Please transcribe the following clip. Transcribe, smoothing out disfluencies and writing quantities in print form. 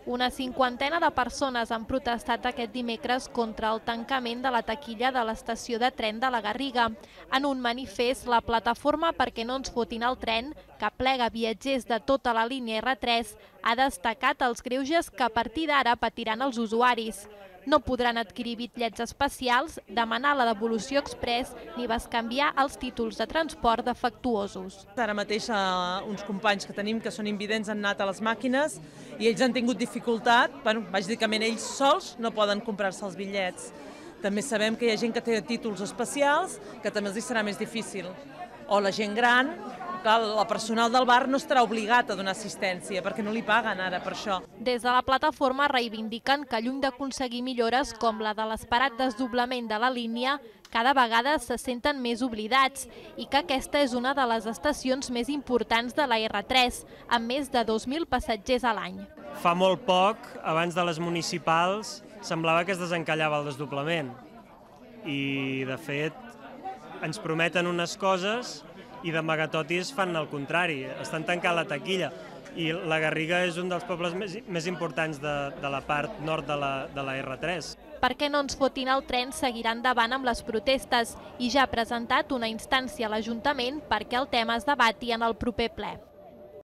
Una cinquantena de persones han protestat aquest dimecres contra el tancament de la taquilla de l'estació de tren de la Garriga. En un manifest, la plataforma Perquè no ens fotin el tren, que plega viatgers de tota la línia R3, ha destacat els greuges que a partir d'ara patiran els usuaris. No podran adquirir bitllets especials, demanar la devolució express ni bescanviar els títols de transport defectuosos. Ara mateix uns companys que tenim que són invidents han anat a les màquines i ells han tingut dificultat, bàsicament ells sols no poden comprar-se els bitllets. També sabem que hi ha gent que té títols especials que també els serà més difícil. O la gent gran, que el personal del bar no estarà obligat a donar assistència perquè no li paguen ara per això. Des de la plataforma reivindiquen que lluny d'aconseguir millores com la de l'esperat desdoblament de la línia, cada vegada se senten més oblidats i que aquesta és una de les estacions més importants de la R3, amb més de 2.000 passatgers a l'any. Fa molt poc, abans de les municipals, semblava que es desencallava el desdoblament i, de fet, ens prometen unes coses i d'amagatotis fan el contrari, estan tancant la taquilla. I la Garriga és un dels pobles més importants de la part nord de la R3. Perquè no ens fotin el tren seguirà endavant amb les protestes i ja ha presentat una instància a l'Ajuntament perquè el tema es debati en el proper ple.